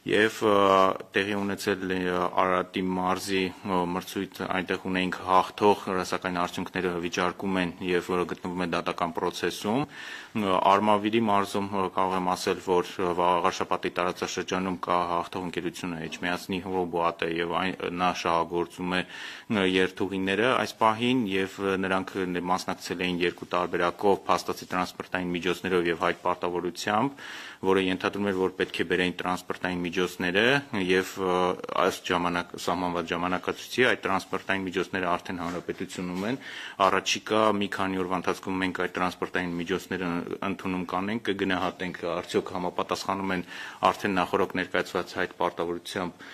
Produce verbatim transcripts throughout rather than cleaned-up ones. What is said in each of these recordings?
Եվ տեղի ունեցել Արարատի մարզի մրցույթ, այնտեղ ունենք հաղթող, սակայն արդյունքները վիճարկում են եւ գտնվում է դատական process-ում։ Արմավիրի մարզում կարող եմ ասել, որ Վաղարշապատի տարածաշրջանում կա հաղթող ընկերությունը Էջմիածնի Ռոբոատը եւ նա շահագործում է երթուղիները այս պահին եւ նրանք մասնակցել էին երկու տարբերակով փաստացի տրանսպորտային միջոցներով եւ հայտ պարտավորությամբ, որը ենթադրում էր, որ պետք է բերեին տրանսպորտային միջոցները եւ ըստ ժամանակ սահմանված ժամանակացույցի այդ տրանսպորտային միջոցները արդեն հանրապետությունում են։ Առաջիկա մի քանի օրվա ընթացքում մենք այդ տրանսպորտային միջոցները ընդունում կանենք, կգնահատենք արդյոք համապատասխանում են արդեն նախորդ ներկայացված հայտ պարտավորությամբ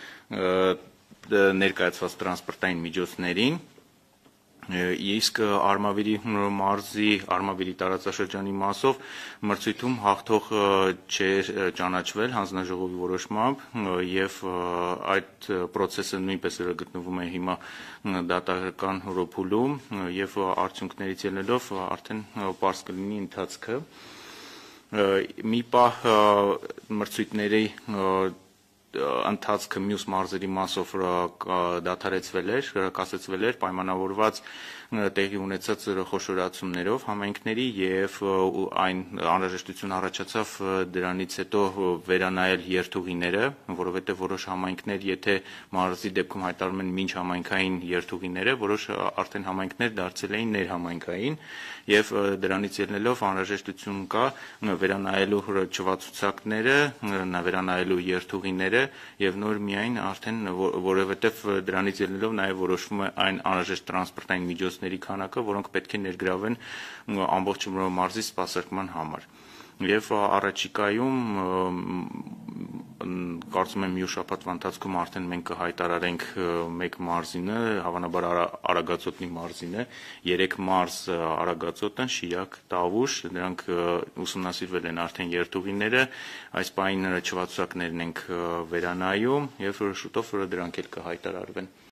ներկայացված տրանսպորտային միջոցներին։ Իսկ Արմավիրի մարզի Արմավիրի տարածաշրջանի մասով մրցույթում հաղթող չէր ճանաչվել հանձնաժողովի որոշմամբ եւ այդ process-ը նույնպես գտնվում է հիմա դատական ռոփուլում եւ արդյունքներից ելնելով արդեն պարզ կլինի ընթացքը։ Մի պահ մրցույթների ընթացքը մյուս մարզերի մասով դադարեցվել էր, կասեցվել էր պայմանավորված տեղի ունեցած խոշորացումներով համայնքների եւ այն անհրաժեշտություն առաջացավ դրանից հետո վերանայել երթուղիները, որովհետեւ որոշ համայնքներ, եթե մարզի դեպքում հայտարարում են մինչ համայնքային երթուղիները, որոշ արդեն համայնքներ դարձել էին ներհամայնքային եւ դրանից ելնելով անհրաժեշտություն կա վերանայելու հրաչվածուցակները, վերանայելու երթուղիները եւ նոր միայն արդեն որովհետեւ դրանից ելնելով նաեւ որոշվում է այն անհրաժեշտ տրանսպորտային միջոցների քանակը, որոնք պետք է ներգրավեն ամբողջ մարզի սպասարկման համար։ Եվ առաջիկայում կարծում եմ մյուս շաբաթվա ընթացքում արդեն մենք կհայտարարենք մեկ մարզինը, հավանաբար Արագածոտնի մարզինը, երեք մարզ Արագածոտն, Շիրակ, Տավուշ, նրանք ուսումնասիրվել են արդեն երթուղիները, այս պահին հրաչվածուցակներն ենք վերանայում եւ շուտով դրանք էլ կհայտարարվեն։